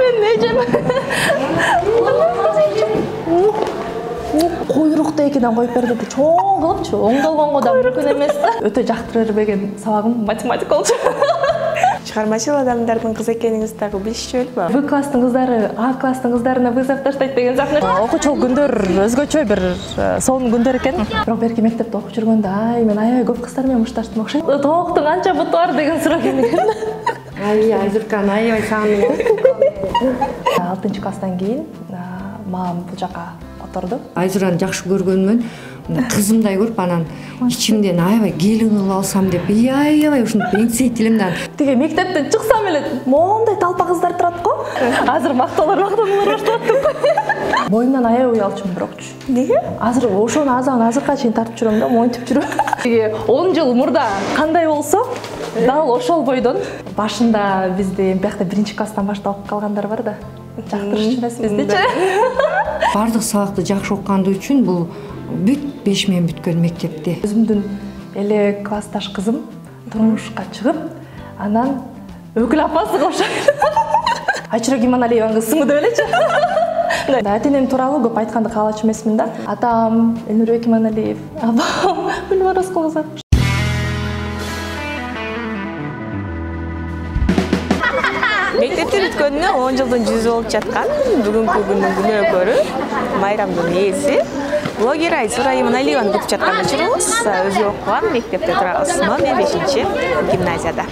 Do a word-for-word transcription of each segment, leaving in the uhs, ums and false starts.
Мен эжем. Койрукта экиден коюп берди. Чоң кылыпчы. Оңдолгонго да мүмкүн эмес. Өтө жактырып берген сабагым математика болчу. Чыгармачыл адамдардын кыз экениңизди дагы билишчү белби? В класстын кыздары А класстын кыздарына вызов таштайт деген сакны. Окуучу күндөр өзгөчө бир сонун күндөр экен. Бирок берки мектепте окуп жүргөндө ай мен аябай көп кыздар менен мушташтым окшойт. Тооктун канча буту бар деген суроо келген. Ай, азыркан аябай сагындым. алтынчы класстан кийин мамам бул жака оторду. Айзыраны жакшы көргөнмөн. Кызымдай көрүп анан ичимден аябай келин кылып алсам деп аябай ушинтип эңсейтилимден. Тиги мектептен чыксам эле моундай талпа кыздар турат го. Азыр макталар мактанулар баштап. Боюмдан аябай уялчумун бирокчу. Неге? Азыр ошону азан азыркыга чейин тартып жүрөм да, монтип жүрөм. Тиги он жыл мурда кандай болсо, дал ошол бойдон башында бизди биякта биринчи класстан баштап окуп калгандар бар да. Жактырышчу эмес биздичи. Бардык сабакты жакшы окугандыгы үчүн бул бүт беш менен бүткөн мектепти. Өзүмдүн эле классташ кызым турмушка чыгып, анан өкүл апасыга окшойт. Айчурак Иманалиеванын кызысыңбы деп элечи. Ата-энем тууралуу көп айтканды каалачу эмесмин да. Атам Элнурбек Иманалиев, апам Гүлбара Рыскулова. Мектептин бүткөнүнө он жылдын жүзү болуп жаткан бүгүнкү күндүн күнөөкөрү майрамдын ээси блогер Айзыра Иманалиеваны күтүп жаткан учурубуз. Өзү окуган мектепте турабыз. Номер бешинчи гимназияда.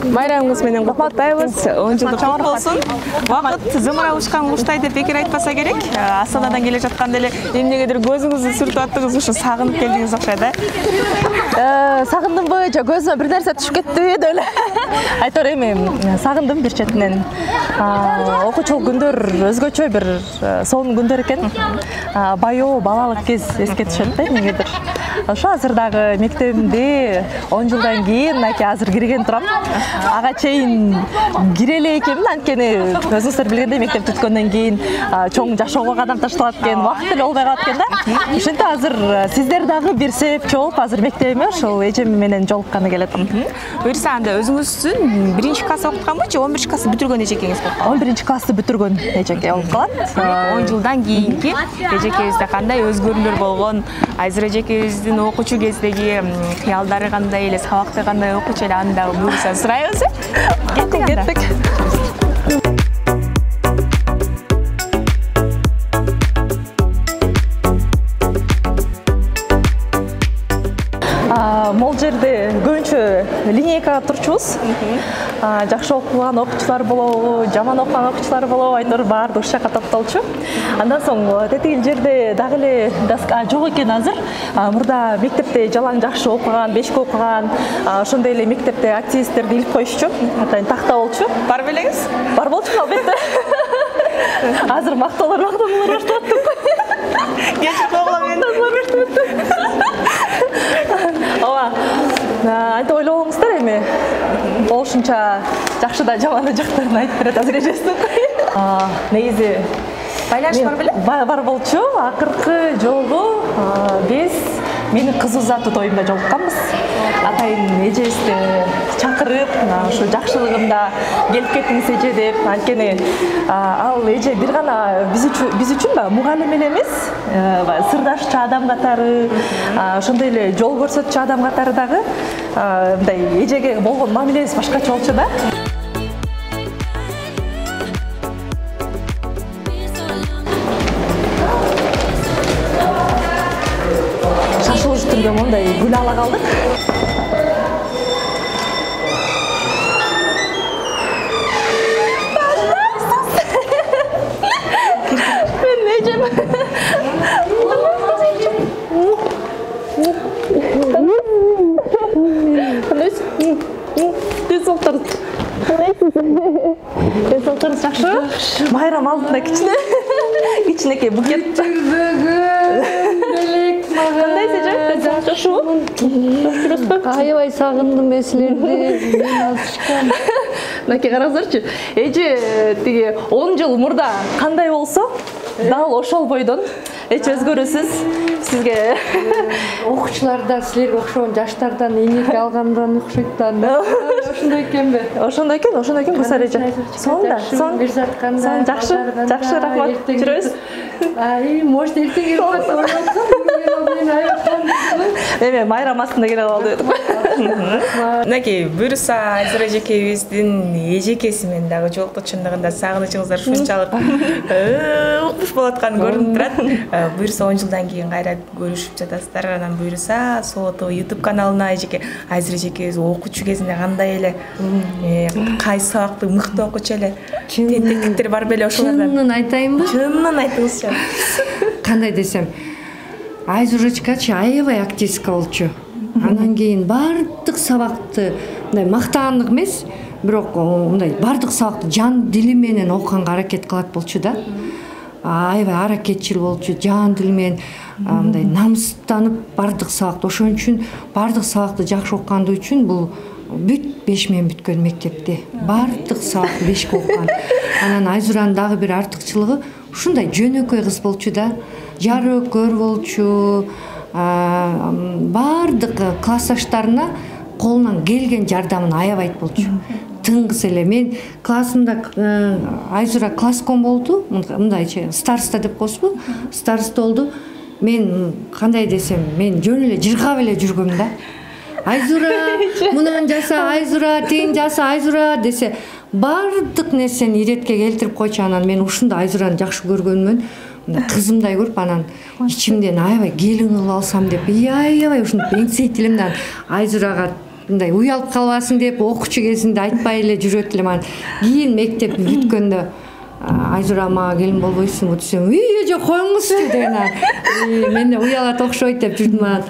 Майрамыңыз менен куттуктайбыз. он жылдык кут болсун. Вакыт зымыра учкан куштай деп бекер айтпаса керек. Астанадан келе жатканда эле эмнегедир көзүңүздү сүртүп аттыңыз, ушу сагынып келдиңиз окшойт да. Э, сагындымбы же көзүмө бир нерсе түшүп кеттиби деп эле. Айтор эми сагындым бир четинен. Окуучулук күндөр өзгөчө бир сонун күндөр экен. Баяу балалык кез эске түшөт да эмнегедир. Ошо азыр дагы мектебимде он жылдан кийин аке азыр кирген турам. Ага чейин кире эле экенмин, анткени өзүңүздөр билгендей мектеп бүткөндөн кийин чоң жашоого кадам ташталат экен, убакыт эле болбой калат экен да. Ошентип азыр сиздер дагы бир себепчи болуп азыр мектебиме ошол эжем менен жолукканы келет. Буюрса анда өзүңүздүн биринчи класс окутканбы же он биринчи классты бүтүргөн эжекеңиз болуп калат? он биринчи классты бүтүргөн эжеке болуп калат. он жылдан кийинки эжекебизде кандай өзгөрүүлөр болгон, Айзыра эжекебиздин окуучу кездеги кыялдары кандай эле, сабакты кандай окуучу эле, аны дагы буюрса сурайбыз. Кеттик, кеттик. Могул жерде көбүнчө линейкага турчубуз. Жакшы окуган окуучулар болобу, жаман окуган окуучулар болобу, айтор баардыгы ушул жака топтолчу. Андан соң тетигил жерде дагы эле доска жок экен азыр. Мурда мектепте жалаң жакшы окуган, бешке окуган, ошондой эле мектепте активисттерди илип коюшчу. Атайын такта болчу. Бар белеңиз? Бар болчу албетте. Азыр макталар мактанулар баштап аттым. Кечип койгула мен. Ооба. Айтып ойлобоңуздар эми. Ошунча жакшы да жаман да жактарын айтып берет азыр эжесин. Негизи байланыш бар беле? Бар болчу. Акыркы жолу биз менин кызыбыз аттуу тоюмда жолукканбыз. Атайын эжебизди чакырып, ушу жакшылыгымда келип кеттиңиз эже деп, анткени ал эже бир гана биз үчүн биз үчүн да мугалим эле эмес, сырдашчу адам катары, ошондой эле жол көрсөтчү адам катары дагы мындай эжеге болгон мамилебиз башкача болчу да. Шашылыш түргө мындай гүл ала калдык. Мен эжем. Десолтарыз жакшы? Майрам алдында кичине кичинекей букет. Кандай эже? Жакшыбы? Аябай сагындым эсилерди. мынакей караңыздарчы. Эже тиги он жыл мурда кандай болсо, дал ошол бойдон эч өзгөрүүсүз. Сизге окуучулар да силерге окшогон жаштардан энеге алгандан окшойт да. Ошондой экенби? Ошондой экен, ошондой экен Гүлсара эже. Сонда, сон Мирзат кандай? Жакшы, жакшы, рахмат. Жүрөбүз. Ай, может эртең келип калса Эме майрам астында келе калды деп. Мынакей буюрса Айзура эжекебиздин эжекеси менен дагы жолукту чындыгында сагынычыңыздар ушунчалык укмуш болуп атканы көрүнүп турат. Буюрса он жылдан кийин кайра көрүшүп жатасыздар. Анан буюрса Соо ТВ YouTube каналына эжеке Айзура эжекебиз окуучу кезинде кандай эле, кайсы сабакты мыкты окучу эле, тентектиктер бар беле ошолордон. Чынын айтайынбы? Чынын айтыңызчы. Кандай десем, Айзурачкачы аябай активистка болчу. Анан кийин бардык сабакты мындай мактаандык эмес, бирок мындай бардык сабакты жан дили менен окуганга аракет кылат болчу да. Аябай аракетчил болчу, жан дили менен мындай намыстанып бардык сабакты. Ошон үчүн бардык сабакты жакшы окуганды үчүн бул бүт беш менен бүткөн мектепте. Бардык сабакты бешке окуган. Анан Айзуранын дагы бир артыкчылыгы ушундай жөнөкөй кыз болчу да. Жары өкөр болчу. Бардык классташтарына колунан келген жардамын аябайт болчу. Тыңгыз эле. Мен классымда Айзура класском болду. Мындайчы староста деп коесузбу? Староста болду. Мен кандай десем, мен жөн эле жыргап эле жүргөм да. Айзура, мунун жаса, Айзура, тиң жаса, Айзура десе, бардык нерсени иретке келтирип койчу. Анан мен ушунда Айзураны жакшы көргөнмөн. Кызымдай көрүп, анан ичимден аябай келин кылып алсам деп, аябай ушинтип эңсейт элем да. Айзурага мындай уялып калбасын деп окуучу кезинде айтпай эле жүрөт элем. Анан кийин мектеп бүткөндө Айзура мага келин болбойсуңбу десем, "Үй, эже коюңузчу" деген. Мен уялат окшойт деп жүрдүм.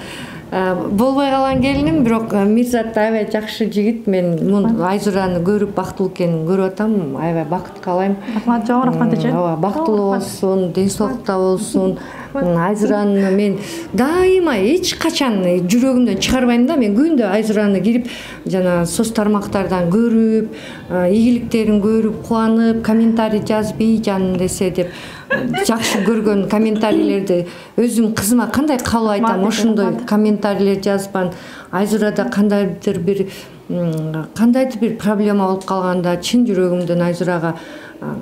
Болбой калган келиним, бирок Мирзат аябай жакшы жигит. Мен муну Айзураны көрүп бактылуу экенин көрүп атам. Аябай бакыт каалайм. Рахмат, жок рахмат эже. Ооба, бактылуу болсун, ден соолукта болсун. Айзураны мен дайыма эч качан жүрөгүмдөн чыгарбайм да. Мен күндө Айзураны кирип, жана соц тармактардан көрүп, ийгиликтерин көрүп, кубанып, комментарий жазып, "Ий жаным" десе деп жакшы көргөн комментарийлерди өзүм кызыма кандай кабыл айтам, ошондой комментарийлер жазган. Айзурада кандайдыр бир кандайдыр бир проблема болуп калганда чын жүрөгүмдөн Айзурага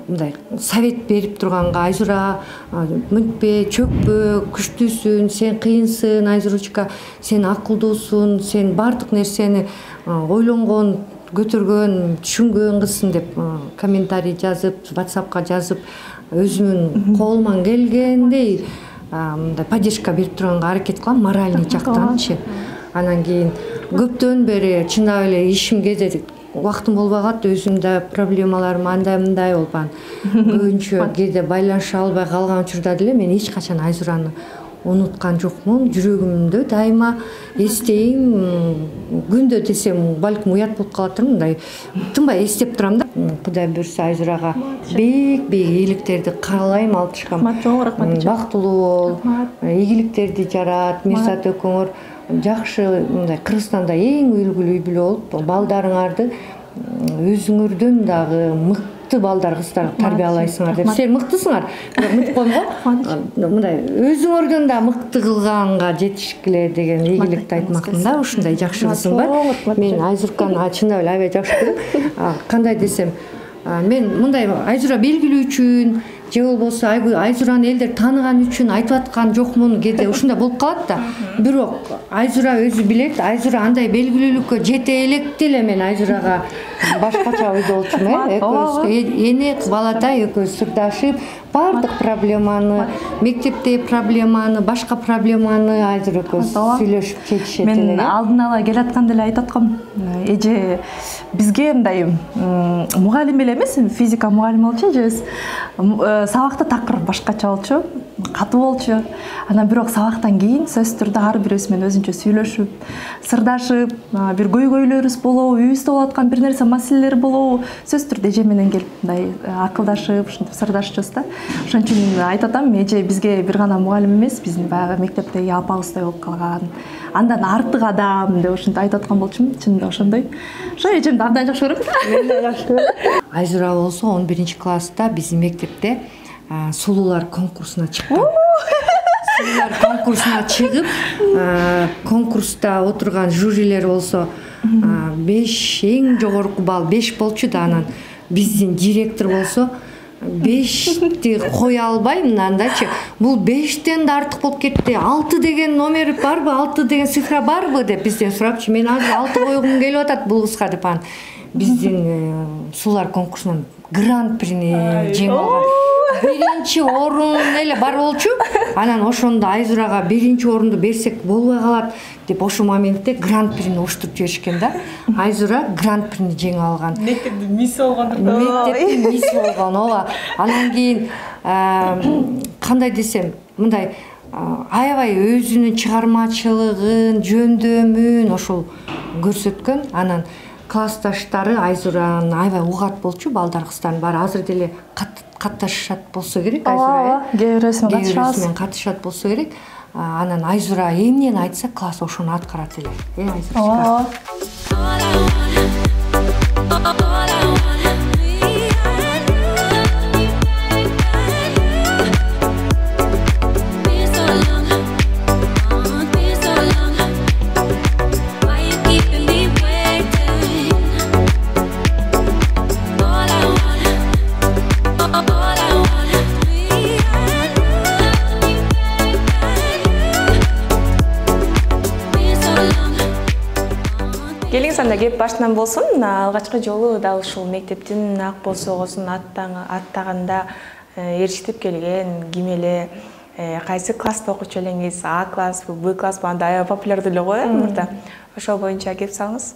мындай совет берип турганга, Айзура мүнтпө, чөкпө, күчтүүсүн, сен кыйынсың, Айзурачка, сен акылдуусуң, сен бардык нерсени ойлонгон, көтөргөн, түшүнгөн кызсың деп комментарий жазып, WhatsAppка жазып, өзүмүн колуман келгендей мындай поддержка берип турганга аракет кылам, моральный жактанчы. Анан кийин көптөн бери чындап эле ишимге де убактым болбой калат, өзүмдө проблемаларым андай мындай болуп анан көбүнчө кээде байланыша албай калган учурда деле мен эч качан Айзураны унуткан жокмун. Жүрөгүмдө дайыма эстейм. Күндө десем, балким уят болуп калатырмын, мындай тынбай эстеп турам да. Кудай буйрса Айзурага бек-бек ийгиликтерди каалайм, алтышкам. Рахмат, жок рахмат. Бактылуу бол, ийгиликтерди жарат. Мирзат экөөңөр жакшы мындай Кыргызстанда эң үлгүлүү үй бүлө болуп, балдарыңарды өзүңөрдөн дагы мыкты балдар, кыздар тарбиялайсыңар деп. Силер мыктысыңар, бирок мынтип койгон мындай өзүңөрдөн да мыкты кылганга жетишкиле деген ийгиликти айтмакмын да. Ушундай жакшы кызым бар. Мен Айзурканы чындап эле аябай жакшы көрөм. Кандай десем, мен мындай Айзура белгилүү үчүн же болбосо Айзураны элдер тааныган үчүн айтып аткан жокмун, кээде ушундай болуп калат да. Бирок Айзура өзү билет, Айзура андай белгилүүлүккө жете электи эле мен Айзурага башкача ойдо болчумун. Экөөбүз эне балатай экөөбүз сырдашып, бардык проблеманы, мектептеги проблеманы, башка проблеманы Айзура экөөбүз сүйлөшүп чечишет эле. Мен алдын ала келатканда эле айтып аткам, эже бизге мындай мугалим эле эмес, физика мугалими болчу эжебиз. Сабакта такыр башкача болчу. катуу болчу. Анан бирок сабактан кийин сөзсүз түрдө ар бирөөбүз менен өзүнчө сүйлөшүп, сырдашып, бир көйгөйлөрүбүз болобу, үйүбүздө болуп аткан бир нерсе маселелер болобу, сөзсүз түрдө эже менен келип мындай акылдашып, ушинтип сырдашчубуз да. Ошон үчүн айтып атам, эже бизге бир гана мугалим эмес, биздин баягы мектептеги апабыздай болуп калган. Андан артык адам деп ушинтип айтып аткан болчумун, чынында ошондой. Ошо эжемди абдан жакшы көрөм. Мен да жакшы көрөм. Айзура болсо он биринчи класста биздин мектепте сулуулар конкурсуна чыккан. Сулуулар конкурсуна чыгып, конкурста отурган жюрилер болсо беш эң жогорку балл беш болчу да, анан биздин директор болсо бешти кое албай мындайчы, бул бештен да артык болуп кетти, алты деген номер барбы, алты деген цифра барбы деп бизден сурапчы. Мен азыр алты койгум келип атат бул кызга деп, анан биздин сулуулар конкурсунан гран-прини жеңип алган. Биринчи орун эле бар болчу. Анан ошондо Айзурага биринчи орунду берсек болбой калат деп ошол моментте гран-прини уштуруп жиберишкен да. Айзура гран-прини жеңип алган. Мектептин мисси болгондуктан. Мектептин мисси болгон, ооба. Анан кийин кандай десем, мындай аябай өзүнүн чыгармачылыгын, жөндөмүн ошол көрсөткөн. Анан классташтары Айзураны аябай угат болчу, балдар кыздардын баары азыр деле катташат болсо керек. Айзура кээ бирөөсү менен катышат болсо керек. Анан Айзура эмнени айтса класс ошону аткарат эле. Э Айзура. Келиңиз анда кеп башынан болсун. Алгачкы жолу дал ушул мектептин ак болсогосун аттаганда эрişип келген ким эле, кайсы класста окучу элеңиз, А класспы, Б класспы, анда аябай популярдуу эле го мурда. Ошол боюнча кеп салыңыз.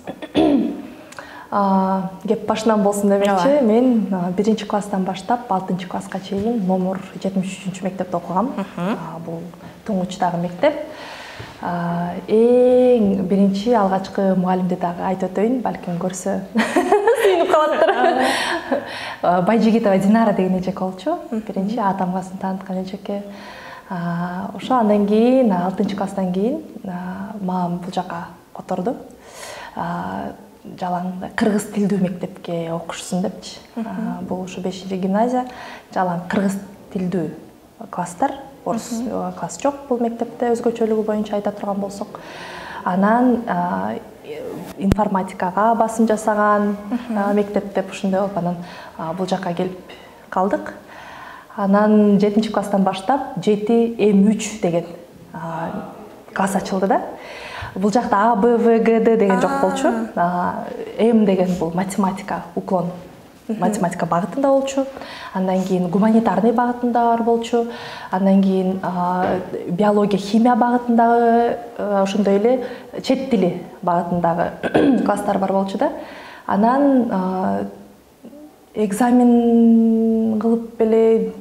Кеп башынан болсун демекчи, мен биринчи класстан баштап алтынчы класска чейин номер жетимиш үчүнчү мектепте окугам. Бул Туңгучтагы мектеп. Эң биринчи алгачкы мугалимди дагы айтып өтөйүн, балким көрсө сүйүнүп калаттыр. Байжигитова Динара деген эжек болчу. Биринчи А тамгасын тааныткан эжеке. Ошо андан кийин алтынчы класстан кийин мамам бул жака которду. Жалаң кыргыз тилдүү мектепке окушсун депчи. Бул ушу бешинчи гимназия, жалаң кыргыз тилдүү класстар. Орус класс жок бул мектепте өзгөчөлүгү боюнча айта турган болсок. Анан информатикага басым жасаган мектеп деп ушундай болуп, анан бул жака келип калдык. Анан жетинчи класстан баштап жети эм үч деген класс ачылды да. Бул жакта А, Б, В, Г, Д деген жок болчу. М деген бул математика, уклон. Математика багытында болчу. Андан кийин гуманитарный багытында бар болчу. Андан кийин биология, химия багытындагы, ошондой эле чет тили багытындагы класстар бар болчу да. Анан экзамен кылып эле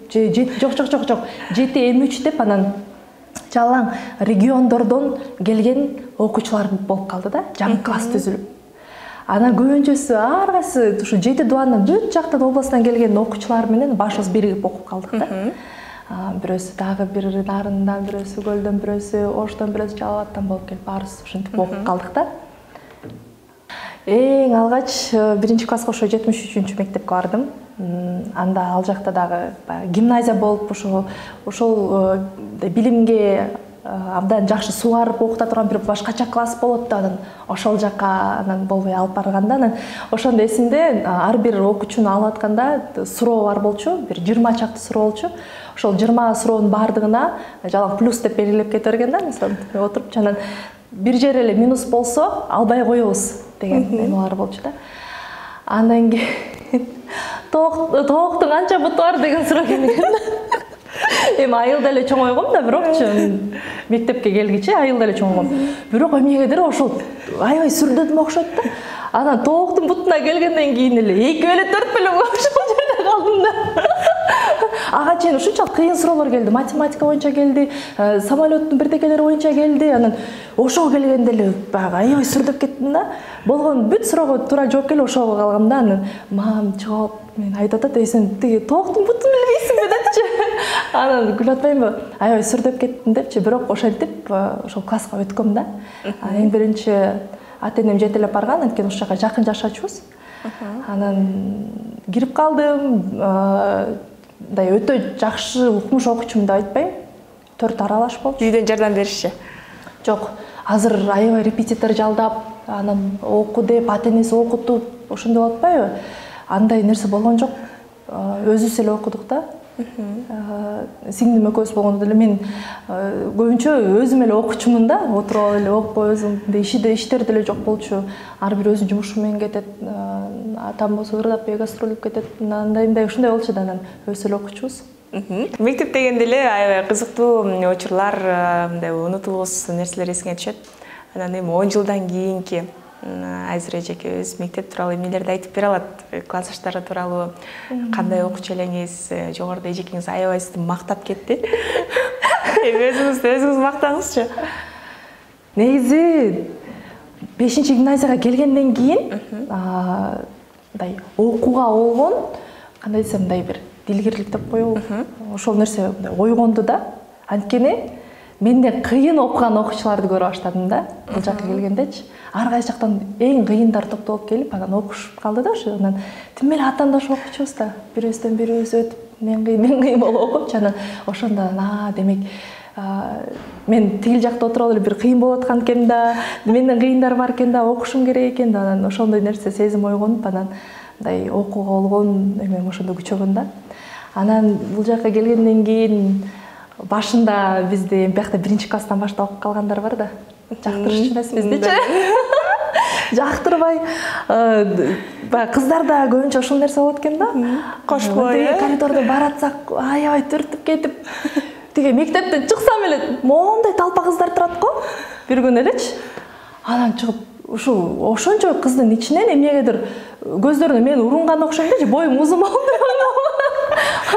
жок жок жок жок жети эм үч деп анан жалаң региондордон келген окуучулар болуп калды да, жаңы класс түзүлүп. Анан көбүнчөсү ар кайсы ушу жети дуандан бүт жактан областтан келген окуучулар менен башыбыз биригип окуп калдык да. Бирөөсү дагы бир нарындан, бирөөсү көлдөн, бирөөсү Оштон, бирөөсү Жалал Абадтан болуп келип баарыбыз ушинтип окуп калдык да. Эң алгач биринчи класска ошо жетимиш үчүнчү мектепке бардым. Анда ал жакта дагы гимназия болуп, ошол ошол билимге абдан жакшы сугарып окута турган бир башкача класс болот да, анан ошол жака анан болбой алып барганда, анан ошондо эсимде ар бир окуучуну алып атканда суроо бар болчу, бир жыйырма чакты суроо болчу. Ошол жыйырма суроонун баардыгына жалаң плюс деп белгилеп кете берген да, мисалы отуруп, анан бир жер эле минус болсо албай коебуз деген эмелер болчу да. Андан кийин тооктун канча буту бар деген суроо келген. Эми айыл деле чоңойгом да, бирокчу мектепке келгиче айыл деле чоңойгом. Бирок эмнегедир ошол аябай сүрдөдүм окшойт да. Анан тооктун бутуна келгенден кийин эле эки беле төрт беле ошол жерде калдым да. ага чейин ушунчалык кыйын суроолор келди, математика боюнча келди, самолеттун бирдекелери боюнча келди. Анан ошого келгенде эле баягы аябай сүрдөп кеттим да. Болгон бүт суроого туура жооп келип ошого калгам да. Анан мам жооп мен айтып атат, сен тиги тооктун бутун билбейсиңби депчи. Анан күлүп атпаймынбы? Аябай сүрдөп кеттим депчи, бирок ошентип ошол класска өткөм да. Эң биринчи ата-энем жетелеп барган, анткени ошол жака жакын жашачубуз. Анан кирип калдым. Мындай өтө жакшы укмуш окуучумун деп айтпайм. Төрт аралаш болчу. Үйдөн жардам беришчи? Жок. Азыр аябай репетитор жалдап, анан оку деп, ата-энеси окутуп, ошондой болуп атпайбы? Андай нерсе болгон жок. Өзүбүз эле окудук да. Сиңдим экөөбүз болгондо деле мен көбүнчө өзүм эле окучумун да. Отуруп эле окуп өзүм иште иштер деле жок болчу. Ар бир өзүнүн жумушу менен кетет. Атам болсо ырдап гастролдоп кетет. Андай мындай ушундай болчу да, анан өзүбүз эле окучубуз. Мектеп дегенде эле аябай кызыктуу учурлар, мындай унутулуус нерселер эсиңе түшөт. Анан эми он жылдан кийинки Айзыра эжекебиз мектеп тууралуу эмнелерди айтып бере алат? Классташтары тууралуу кандай окучу элеңиз? Жогоруда эжекеңиз аябай сизди мактап кетти. Эми өзүңүздү өзүңүз мактаңызчы. Негизи бешинчи гимназияга келгенден кийин мындай окууга болгон, кандай десем, мындай бир дилгирлик деп коебу, ошол нерсе ойгонду да. Анткени менден кыйын окуган окуучуларды көрө баштадым да, бул жакка келгендечи. Ар кайсы жактан эң кыйындар топтолуп келип, анан окушуп калды да ошо. Анан тим эле атаандаш окуучубуз да. Бирибизден бирибиз өтүп, мен кыйын, мен кыйын болуп окупчу. Анан ошондон а демек мен тигил жакта отуруп эле бир кыйын болуп аткан экен да, менден кыйындар бар экен да, окушум керек экен да. Анан ошондой нерсе сезим ойгонуп, анан мындай окууга болгон эмем ошондо күчөгөн да. Анан бул жакка келгенден кийин башында бизди биякта биринчи класстан баштап окуп калгандар бар да. Жактырышчу эмес биздичи. Жактырбай, баягы кыздар да көбүнчө ошол нерсе болот экен да. Кошпой, коридордо баратсак аябай түртүп кетип, тиги мектептен чыксам эле моундай талпа кыздар турат го. Бир күнү элечи. Анан чыгып, ушул ошончо кыздын ичинен эмнегедир көздөрүнө мен урунган окшойм да, боюм узун болду.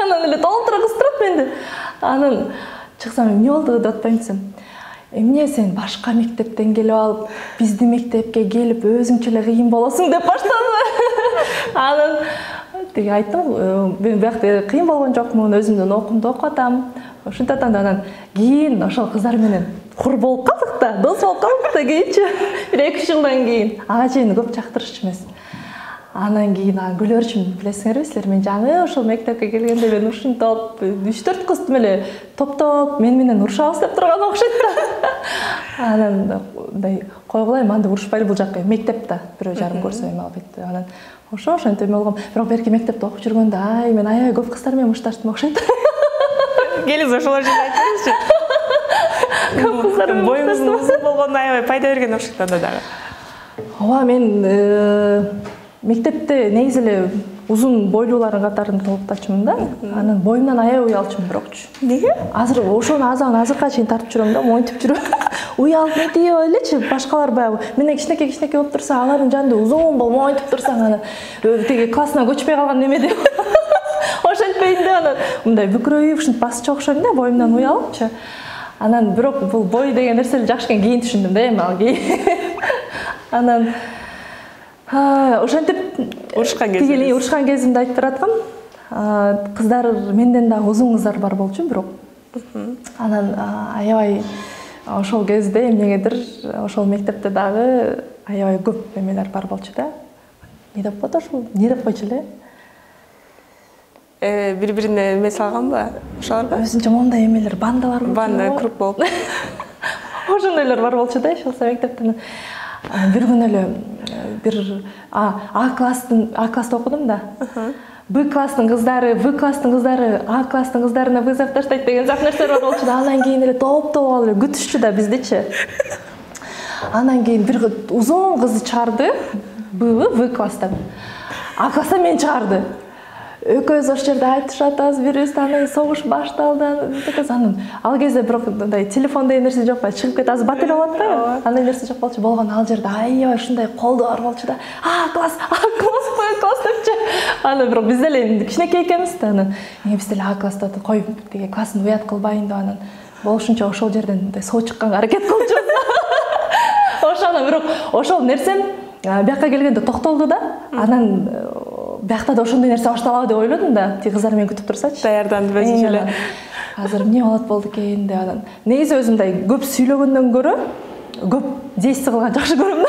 Анан эле толтура кыз турат менде. Анан чыксам эмне болду деп атпайм десем, эмне сен башка мектептен келип алып, биздин мектепке келип өзүңчө эле кыйын болосуң деп баштады. Анан тиги айттым, мен биякта кыйын болгон жокмун, өзүмдүн окуумду окуп атам, ушинтип атам да. Анан кийин ошол кыздар менен кур болуп калдык да, дос болуп калдык да кийинчи. Бир эки үч жылдан кийин. Ага чейин көп жактырышчу эмес. Анан кийин күлө берчүмүн, билесиңерби силер, мен жаңы ошол мектепке келгенде мен ушинтип алып, үч төрт кыз эле топтоп мен менен урушабыз деп турган окшойт да. Анан мындай койгулайм, анда урушпайлы, бул жакка мектеп да, бирөө жарым көрсө эме алып кетти. Анан ошо ошентип эме болгом. Бирок берки мектепте окуп жүргөндө, ай, мен аябай көп кыздар менен мушташтым окшойт. Келиңиз ошолор жөнүндө айтыңызчы. Көп кыздар менен боюңуздун узун болгону аябай пайда берген окшойт анда дагы. Ооба, мен мектепте негизи эле узун бойлуулардын катарын толуктачумун да. Анан боюмдан аябай уялчумун бирокчу. Неге? Азыр ошону азан азыркыга чейин тартып жүрөм да, моинтип жүрөм. Уялып метип элечи, башкалар баягы менден кичинекей кичинекей болуп турса, алардын жанында узун болуп моинтип турсаң, анан тиги классына көчпөй калган неме деп ошентпейин да. Анан мындай бүкүрөйүп ушинтип басчы окшойм да, боюмдан уялыпчы. Анан бирок бул бой деген нерсени жакшы экен кийин түшүндүм да, эми ал кийин. Анан ошентип урушкан кез. Тиги урушкан кезимди айтып бараткам. Кыздар менден дагы узун кыздар бар болчу, бирок. Анан аябай ошол кезде эмнегедир ошол мектепте дагы аябай көп эмелер бар болчу да. Не деп коет ошол? Не деп койчу эле? Э, бири-бирине эме салганбы? Ошолорго? Өзүнчө моундай эмелер, бандалар болчу. Банда, круг болуп. Ошондойлор бар болчу да, ошол мектептен. Бир күнү эле бир А класстын А класста окудум да. Б класстын кыздары, В класстын кыздары А класстын кыздарына вызов таштайт деген зак нерселер бар болчу да. Анан кийин эле топ-топ алып эле күтүшчү да биздичи. Анан кийин бир узун кызды чыгарды, Б В класстан. А класстан мени чыгарды. экөөбүз ошол жерде айтышып атабыз бири-бирибизди, анан согуш башталды. Анан ал кезде бирок мындай телефон деген нерсе жок, чыгып кетип азыр батарея болот да. Андай нерсе жок болчу. Болгон ал жерде аябай ушундай колдоо бар болчу да. А, класс, а, класс, кой, класс депчи. Анан бирок биз деле кичинекей экенбиз да. Анан эмне биз деле А класста отуруп коюп тиги классын уят кылбайын деп анан болушунча ошол жерден мындай соо чыкканга аракет кылчубуз. Ошону бирок ошол нерсем бияка келгенде токтолду да. Анан биякта да ошондой нерсе башталабы деп ойлодум да. Тиги кыздар мени күтүп турсачы. Даярданып өзү эле. Азыр эмне болот болду экен деп анан. Негизи өзүм мындай көп сүйлөгөндөн көрө көп действий кылган жакшы көрөм да.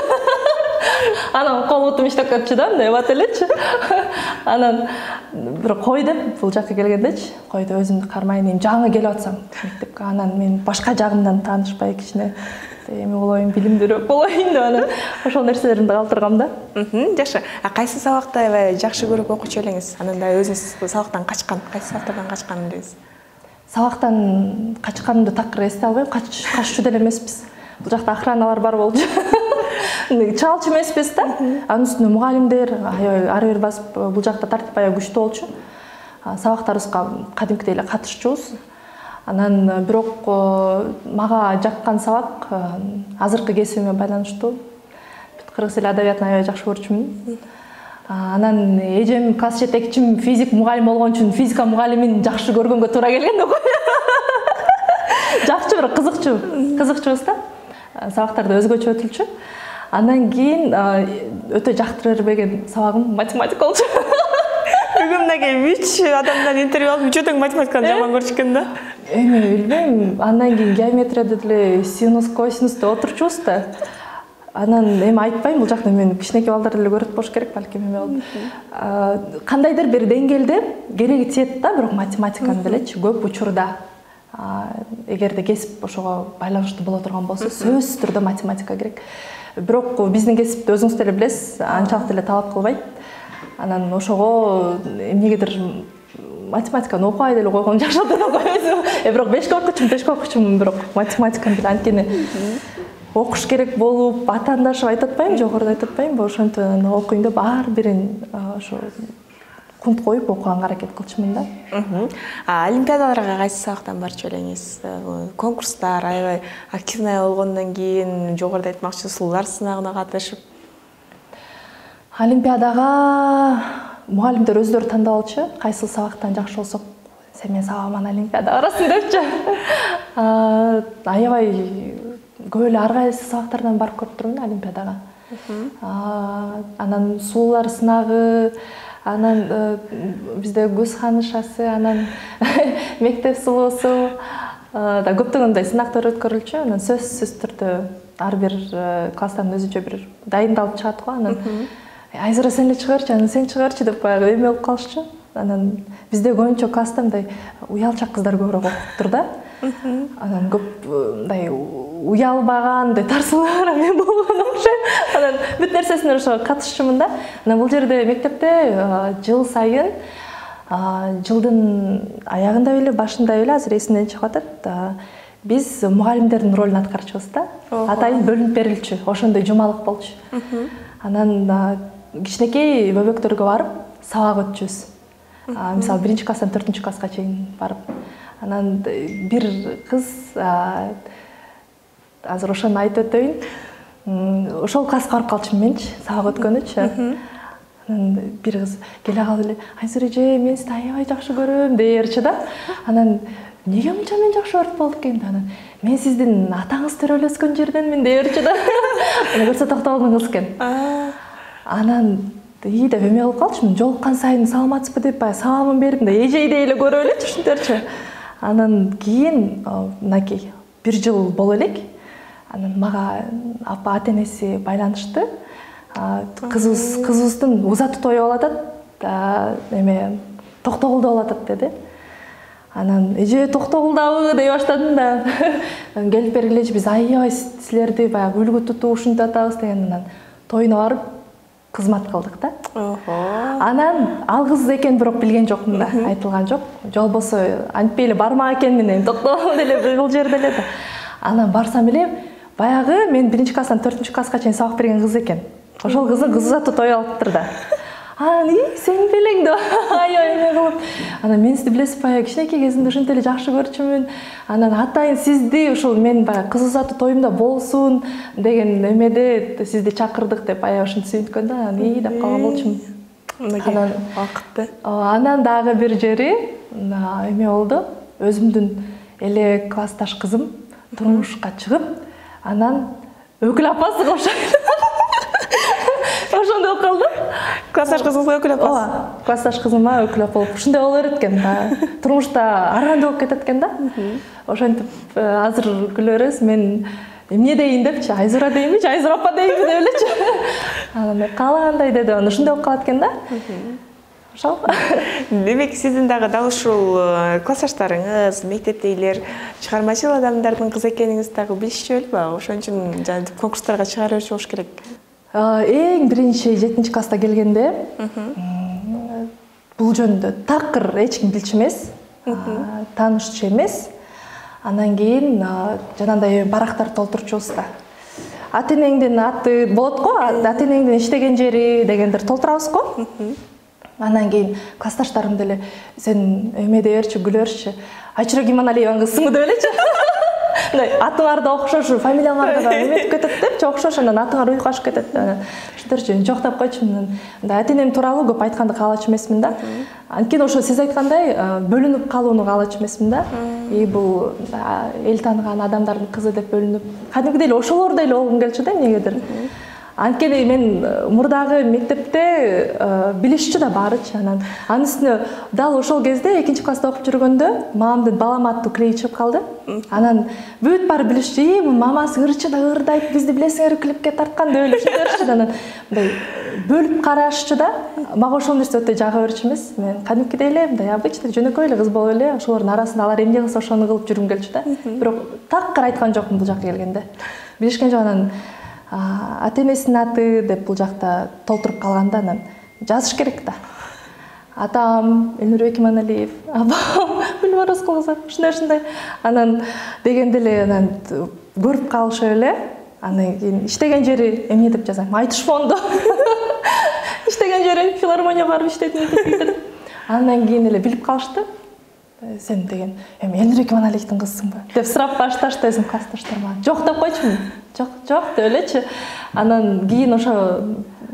Анан кол бутум иштеп кетчү да, мындай бат элечи. Анан бирок кой деп бул жакка келгендечи, койду өзүмдү кармайын, эми жаңы келип атсам мектепке, анан мен башка жагымдан таанышпай кичине эми болоюн, билимдүүрөөк болоюн деп анан ошол нерселеримди калтыргам да. Жакшы. А кайсы сабакты аябай жакшы көрүп окучу элеңиз? Анан да өзүңүз сабактан качкан, кайсы сабактардан качканын билесиз? Сабактан качканымды такыр эстей албайм, каччу деле эмеспиз. Бул жакта охраналар бар болчу. Чалчу эмеспиз да. Анын үстүнө мугалимдер аябай ары бери басып, бул жакта тартип аябай күчтүү болчу. Сабактарыбызга кадимкидей эле катышчубуз. Анан бирок мага жаккан сабак азыркы кесибиме байланыштуу. Кыргыз тили адабиятын аябай жакшы көрчүмүн. Анан эжем класс жетекчим физик мугалим болгон үчүн физика мугалимин жакшы көргөнгө туура келген да. Жакчы, бирок кызыкчу, кызыкчубуз да. Сабактарды өзгөчө өтүлчү. Андан кийин өтө жактыра бербеген сабагым математика болчу. Бүгүн мынакей үч адамдан интервью алып, үчөө тең математиканы жаман көрчү экен да. Эми билбейм, андан кийин геометрияда деле синус, косинусты отурчубуз да. Анан эми айтпайм, бул жакта мен кичинекей балдар деле көрөт болуш керек, балким эме болду. Кандайдыр бир деңгээлде кереги тиет да, бирок математиканы делечи көп учурда эгерде кесип ошого байланыштуу боло турган болсо, сөзсүз түрдө математика керек. Бирок биздин кесипти өзүңүз деле билесиз, анчалык деле талап кылбайт. Анан ошого эмнегедир математиканы окубай деле койгон жакшы деп койбойсуң. Э бирок бешке окучумун, бешке окучумун, бирок математиканы деле анткени окуш керек болуп, атаандашып айтып атпайм, жогоруда айтып атпайм, ошентип окуйм деп ар бирин ошо кунт коюп окуганга аракет кылчумун да. А олимпиадаларга кайсы сабактан барчу элеңиз? Конкурстар аябай активный болгондон кийин жогоруда айтмакчы сулуулар сынагына катышып. Олимпиадага мугалимдер өздөрү тандап алчу, кайсы сабактан жакшы болсок, сен менин сабагыман олимпиада барасың депчи. Аябай көп эле ар кайсы сабактардан барып көрүп турмун олимпиадага. Анан суулар сынагы, анан бизде көз ханышасы, анан мектеп сулоосу да көптөгөн мындай сынактар өткөрүлчү. Анан сөзсүз түрдө ар бир класстан өзүнчө бир дайындалып чыгат го. Анан Айзыра сен эле чыгарчы, анан сен чыгарчы деп баягы эме болуп калышчу. Анан бизде көбүнчө класста мындай уялчак кыздар көбүрөөк окуптур да. Анан көп мындай уялбаган, мындай тарсылуура мен болгон окшойм. Анан бүт нерсесине ошо катышчумун да. Анан бул жерде мектепте жыл сайын жылдын аягында беле, башында беле, азыр эсимден чыгып атат. Биз мугалимдердин ролун аткарчубуз да. Атайын бөлүнүп берилчү, ошондой жумалык болчу. Анан кичинекей бөбөктөргө барып сабак өтчүбүз. Мисалы биринчи класстан төртүнчү класска чейин барып. Анан бир кыз азыр ошону айтып өтөйүн. Ошол класска барып калчумун менчи, сабак өткөнүчү. Анан бир кыз келе калып эле, Айзыра эже, мен сизди аябай жакшы көрөм дээрчи да. Анан неге мынча мен жакшы көрүп болдук экен да. Анан мен сиздин атаңыз төрөлө өскөн жерденмин дээрчи да. Анан көрсө токтогулдун кызы экен. Анан ии деп эме болуп калчумун, жолуккан сайын саламатсызбы деп баягы саламын берип, мындай эжейдей эле көрүп элечи ушинтерчи. Анан кийин мынакей бир жыл боло элек. Анан мага апа ата-энеси байланышты. Кызыбыз кызыбыздын узатуу тою болуп атат. Эме Токтогулда болуп атат деди. Анан эже Токтогулдабы дей баштадым да. Келип бергилечи, биз аябай силерди баягы үлгү тутуп ушинтип атабыз деген. Анан тоюна барып кызмат кылдык да. Анан ал кыз экен бирок билген жокмун да, айтылган жок. Жол болсо антпей эле бармак экенмин, эми токтогул деле бул жерде эле да. Анан барсам эле баягы мен биринчи класстан төртүнчү класска чейин сабак берген кыз экен. Ошол кыздын кыз узатуу тою алыптыр да. Анан ии сен белең деп аябай Анан мен сизди билесиз баягы кичинекей кезимде ушинтип эле жакшы көрчүмүн. Анан атайын сизди ушул мен баягы кыз узатуу тоюмда болсун деген эмеде сизди чакырдык деп баягы ушинтип сүйүнткөн да, анан ии деп калган болчумун. Анан вакытты. Анан дагы бир жери эме болду. Өзүмдүн эле классташ кызым турмушка чыгып, анан өкүл апасы кошойт. Ошондой болуп калды. Классташ кызыңызга өкүл апасы. Ооба, классташ кызыма өкүл апа болуп ушундай боло берет экен да. Турмушта ар кандай болуп кетет экен да. Ошентип азыр күлө беребиз. Мен эмне дейин депчи, Айзура дейинби, Айзура апа дейинби деп элечи. Анан мен каалагандай деди. Анан ушундай болуп калат экен да. Ошол. Демек, сиздин дагы дал ушул классташтарыңыз, мектептегилер чыгармачыл адамдардын кызы экениңизди дагы билишчү белби? Ошон үчүн жана конкурстарга чыгара берчү болуш керек. Эң биринчи жетинчи класста келгенде бул жөнүндө такыр эч ким билчү эмес, таанышчу эмес. Анан кийин жанагындай барактар толтурчубуз да. Ата энеңдин аты болот го, ата энеңдин иштеген жери дегендер толтурабыз го. Анан кийин классташтарым деле сен эме дей берчи, күлө берчи. Айчура Гиманалиеванын кызысыңбы деп элечи. Атыңар да окшош, фамилияңар да эметип кетет депчи, окшош, анан атыңар уйкашып кетет. Ушинтерчи жок деп койчумун. Мындай ата энем тууралуу көп айтканды каалачу эмесмин да. Анткени ошо сиз айткандай бөлүнүп калууну каалачу эмесмин да. И бул эл тааныган адамдардын кызы деп бөлүнүп, кадимгидей эле ошолордой эле болгум келчү да эмнегедир. Анткени мен мурдагы мектепте билишчү да баарычы. Анан анын үстүнө дал ошол кезде экинчи класста окуп жүргөндө мамамдын балам аттуу клейи чыгып калды. Анан бүт баары билишчү, "И, мамасы ырчы да ырдайт, бизди билесиңер, клипке тарткан" деп эле ушинтерчү. Анан мындай бөлүп карашчу да. Мага ошол нерсе өтө жага берчү эмес. Мен кадимкидей эле мындай обычный жөнөкөй эле кыз болуп эле ошолордун арасында алар эмне кылса ошону кылып жүргүм келчү да. Бирок такыр айткан жокмун бул жака келгенде. Билишкен жок. Анан ата энесинин аты деп бул жакта толтуруп калганда анан жазыш керек да. Атам Элнурбек Иманалиев, апам Гүлбар Рыскулова, ушундай ушундай. Анан дегенде эле анан көрүп калышып эле. Анан кийин иштеген жери эмне деп жазайм? Айтыш фонду. Иштеген жери филармония барып иштедим. Андан кийин эле билип калышты. Сен деген эми Элнурбек Иманалиевдин кызысыңбы деп сурап башташты өзүм классташтарыма. Жок деп койчумун. Жок, жок деп элечи. Анан кийин ошо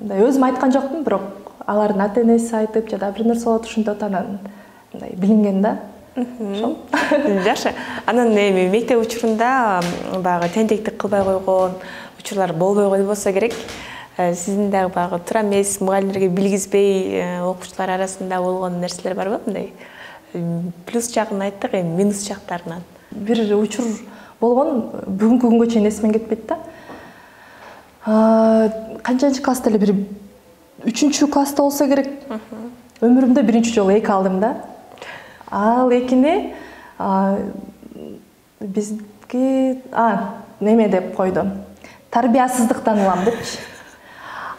өзүм айткан жокмун, бирок алардын ата энеси айтып, жада бир нерсе болот ушундай анан мындай билинген да. Ошол. Жакшы. Анан эми мектеп учурунда баягы тентектик кылбай койгон учурлар болбой койду болсо керек. Сиздин дагы баягы туура эмес, мугалимдерге билгизбей окуучулар арасында болгон нерселер барбы мындай? Плюс жагын айттык, эми минус жактарынан. Бир учур болгон бүгүнкү күнгө чейин эсимен кетпейт да. Канчанчы класста эле бир үчүнчү класста болсо керек. Өмүрүмдө биринчи жолу эки алдым да. Ал экини бизге а неме деп койду. Тарбиясыздыктан улам депчи.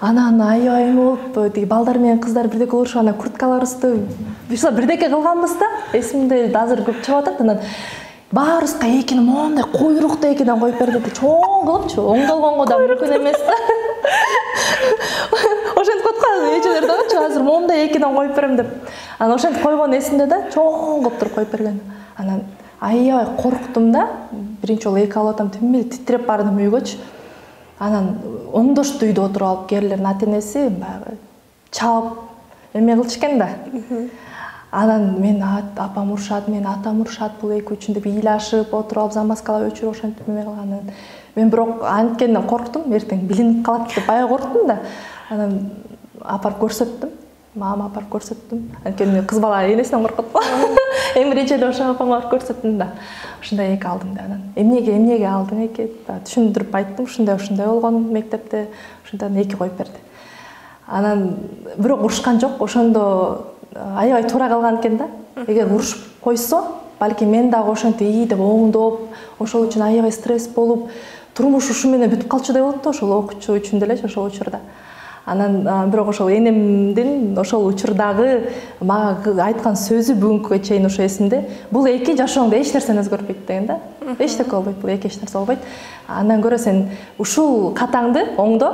Анан аябай эме болуп, тиги балдар менен кыздар бирдеке болушуп, анан курткаларыбызды бирдеке кылганбыз да. Эсимде азыр көп чыгып атат. Анан баарыбызга экини мондай койрукту экиден коюп берди деп чоң кылыпчы. Оңдолгонго да мүмкүн эмес да. Ошентип коткон эжелер дагычы азыр мондай экиден коюп берем деп. Анан ошентип койгон эсимде да, чоң кылып туруп коюп берген. Анан аябай корктум да. Биринчи жолу эки алып атам, тим эле титиреп бардым үйгөчү. Анан оңдошту үйдө отуруп алып келдилер, ата энеси баягы чалып эме кылчу экен да. Анан мен апам урушат, мен атам урушат, бул эки үчүн деп ыйлашып отуруп алып замаскалап өчүрүп ошентип эме кылган. Мен бирок анткенден корктум, эртең билинип калат деп бая корктум да. Анан апарып көрсөттүм. Мама апарып көрсөттүм. Анткени кыз бала энесинен коркот го. Эң биринчи эле ошо апама барып көрсөттүм да. Ушундай эки алдым да. Анан эмнеге, эмнеге алдың эки? Түшүндүрүп айттым, ушундай ушундай болгон мектепте, ушундан эки коюп берди. Анан бирок урушкан жок, ошондо аябай туура калган экен да. Эгер урушуп койсо, балки мен дагы ошентип ии деп оңдоп, ошол үчүн аябай стресс болуп, турмуш ушу менен бүтүп калчудай болот да, ошол окуучу үчүн делечи ошол учурда. Анан бирок ошол энемдин ошол учурдагы мага айткан сөзү бүгүнкүгө чейин ошо эсимде. Бул эки жашооңдо эч нерсени өзгөртпөйт деген да. Эчтеке болбойт, бул эки эч нерсе болбойт. Андан көрө сен ушул катаңды оңдо,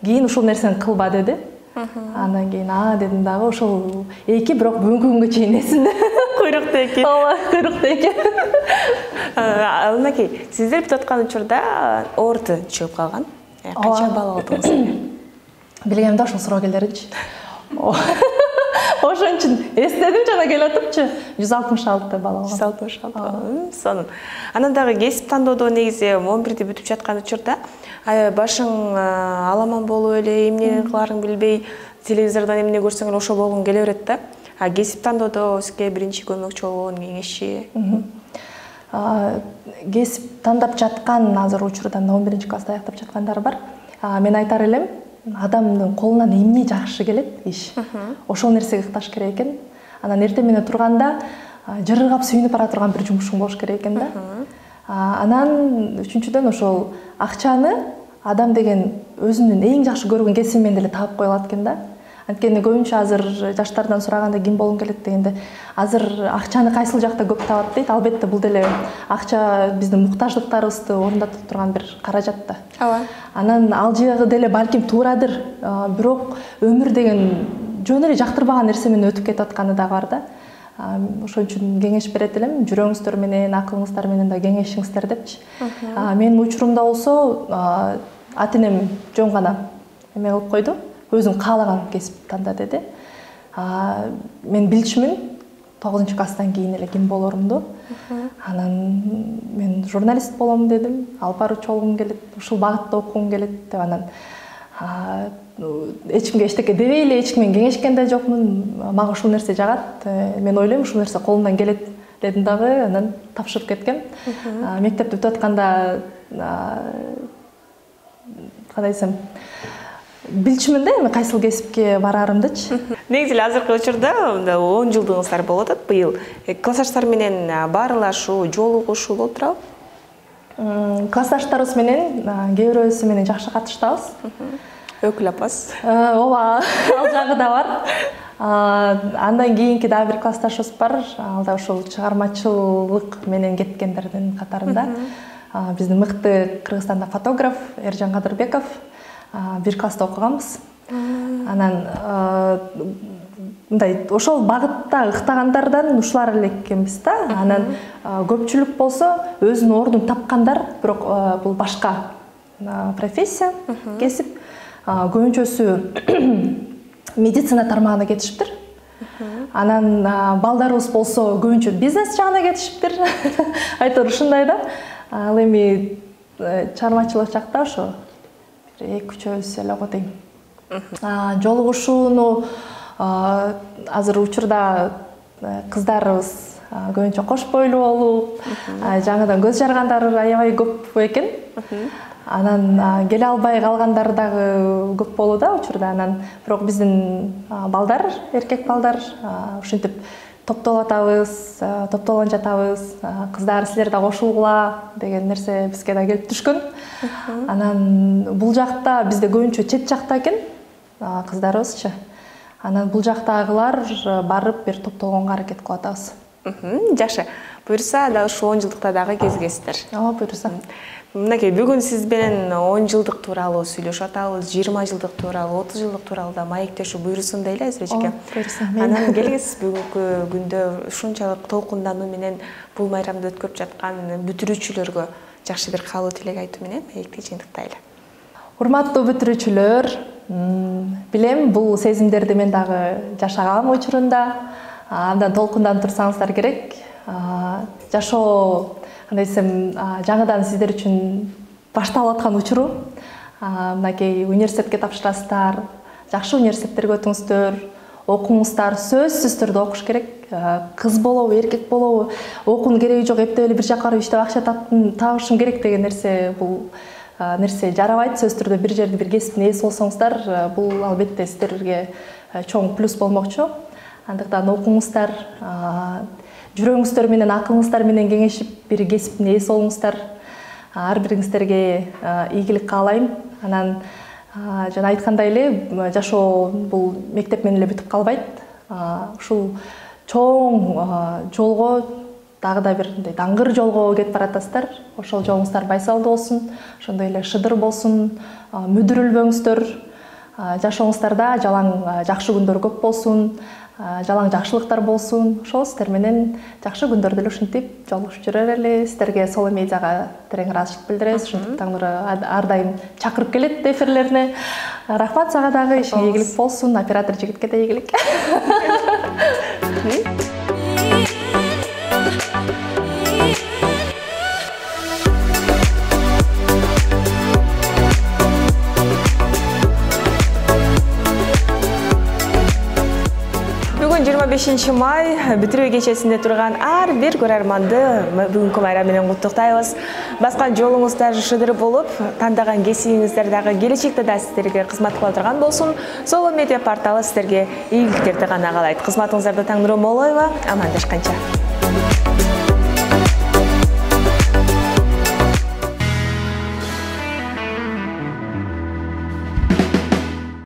кийин ушул нерсени кылба деди. Андан кийин а дедим дагы ошол эки бирок бүгүнкү күнгө чейин эсимде. Куйрукту эки. Ооба, куйрукту эки. Алынакей, сиздер бүтүп аткан учурда ооруту чыгып калган. Канча бала алдыңыз? Билгем да ошол суроо келеринчи. Ошон үчүн эстедим жана келатыпчы. жүз алтымыш алты бала болгон. жүз алтымыш алты. Сонун. Анан дагы кесип тандоодо негизи он бирди бүтүп жаткан учурда башың аламан болуп эле эмне кыларыңды билбей, телевизордон эмне көрсөң ошо болгуң келе берет да. А кесип тандоодо сизге биринчи көмөкчү болгон кеңешчи? Кесип тандап жаткан азыр учурда он биринчи класста аяктап жаткандар бар. Мен айтар элем, адамдын колунан эмне жакшы келет иш. Ошол нерсеге ыкташ керек экен. Анан эртең менен турганда жыргап сүйүнүп бара турган бир жумушуң болуш керек экен да. Анан үчүнчүдөн ошол акчаны адам деген өзүнүн эң жакшы көргөн кесиби менен деле таап кое алат экен да. Анткени көбүнчө азыр жаштардан сураганда ким болгуң келет дегенде азыр акчаны кайсыл жакта көп табат дейт. Албетте бул деле акча биздин муктаждыктарыбызды орундатып турган бир каражат да. Ооба. Анан ал жагы деле балким туурадыр. Бирок өмүр деген жөн эле жактырбаган нерсе менен өтүп кетип атканы да бар да. Ошон үчүн кеңеш берет элем, жүрөгүңүздөр менен, акылыңыздар менен да кеңешиңиздер депчи. Менин учурумда болсо ата энем жөн гана эме кылып койду. Өзүң каалаган кесип танда деди. Мен билчүмүн тогузунчу класстан кийин эле ким болорумду. Анан мен журналист болом дедим, алып баруучу болгум келет, ушул багытта окугум келет деп анан эч кимге эчтеке дебей эле, эч ким менен кеңешкен да жокмун. Мага ушул нерсе жагат. Мен ойлойм ушул нерсе колумдан келет дедим дагы, анан тапшырып кеткем. Мектепти бүтүп атканда кандай десем, билчүмүн да эми кайсыл кесипке барарымдычы. Негизи эле азыркы учурда он жылдыгыңыздар болуп атат быйыл. Классташтар менен баарлашуу, жолугушуу болуп турабы? Классташтарыбыз менен кээ бирөөсү менен жакшы катыштабыз. Өкүл апас. Ооба, ал жагы да бар. Андан кийинки дагы бир классташыбыз бар. Ал да ушул чыгармачылык менен кеткендердин катарында. Биздин мыкты Кыргызстанда фотограф Эржан Кадырбеков. Бир класста окуганбыз. Анан мындай ошол багытта ыктагандардан ушулар эле экенбиз да. Анан көпчүлүк болсо өзүнүн ордун тапкандар, бирок бул башка профессия, кесип. Көбүнчөсү медицина тармагына кетишиптир. Анан балдарыбыз болсо көбүнчө бизнес жагына кетишиптир. Айтор ушундай да. Ал эми чыгармачылык жакта ошо эки үчөөбүз эле го дейм. Жолугушууну азыр учурда кыздарыбыз көбүнчө кош бойлуу болуп, жаңыдан көз жаргандар аябай көп экен. Анан келе албай калгандар дагы көп болууда учурда. Анан бирок биздин балдар, эркек балдар ушинтип топтолуп атабыз, топтолгон жатабыз. Кыздар силер да кошулгула деген нерсе бизге да келип түшкөн. Анан бул жакта бизде көбүнчө чет жакта экен кыздарыбызчы. Анан бул жактагылар барып бир топтолгонго аракет кылып атабыз. Жакшы. Буюрса да ушу он жылдыкта дагы кезигесиздер. Ооба, буюрса. Мынакей бүгүн сиз менен он жылдык тууралуу сүйлөшүп атабыз, жыйырма жылдык тууралуу, отуз жылдык тууралуу да маектешүү буйрусун дейли Айзурачке. Анан келиңиз бүгүнкү күндө ушунчалык толкундануу менен бул майрамды өткөрүп жаткан бүтүрүүчүлөргө жакшы бир каалоо тилек айтуу менен маекти жыйынтыктайлы. Урматтуу бүтүрүүчүлөр, билем бул сезимдерди мен дагы жашагам учурунда. Андан толкунданып турсаңыздар керек. Жашоо кандай десем, жаңыдан сиздер үчүн башталып аткан учуру. Мынакей университетке тапшырасыздар, жакшы университеттерге өтүңүздөр, окуңуздар, сөзсүз түрдө окуш керек. Кыз болобу, эркек болобу, окуунун кереги жок, эптеп эле бир жакка барып иштеп акча табышым керек деген нерсе, бул нерсе жарабайт. Сөзсүз түрдө бир жерде бир кесиптин ээси болсоңуздар, бул албетте сиздерге чоң плюс болмокчу. Андыктан окуңуздар, жүрөгүңүздөр менен, акылыңыздар менен кеңешип бир кесиптин ээси болуңуздар. Ар бириңиздерге ийгилик каалайм. Анан жана айткандай эле, жашоо бул мектеп менен эле бүтүп калбайт. Ушул чоң жолго, дагы да бир даңгыр жолго кетип баратасыздар. Ошол жолуңуздар байсалдуу болсун, ошондой эле шыдыр болсун, мүдүрүлбөңүздөр. жашооңуздарда жалаң жакшы күндөр көп болсун, жалаң жакшылыктар болсун. Ошол сиздер менен жакшы күндөрдө эле ушинтип жолугушуп жүрөр эле. Сиздерге Соло медиага терең ыраазычылык билдиребиз. Ушинтип Таңнура ар дайым чакырып келет эфирлерине. Рахмат сага дагы, ишиңе ийгилик болсун, оператор жигитке да ийгилик. жыйырма бешинчи май бүтүрүү кечесинде турган ар бир көрөрманды бүгүнкү майрам менен куттуктайбыз. Баскан жолуңуздар шыдыр болуп, тандаган кесибиңиздер дагы келечекте да сиздерге кызмат кыла турган болсун. Соло медиа порталы сиздерге ийгиликтерди гана каалайт. Кызматыңыздарда Таңнура Молоева, амандашканча.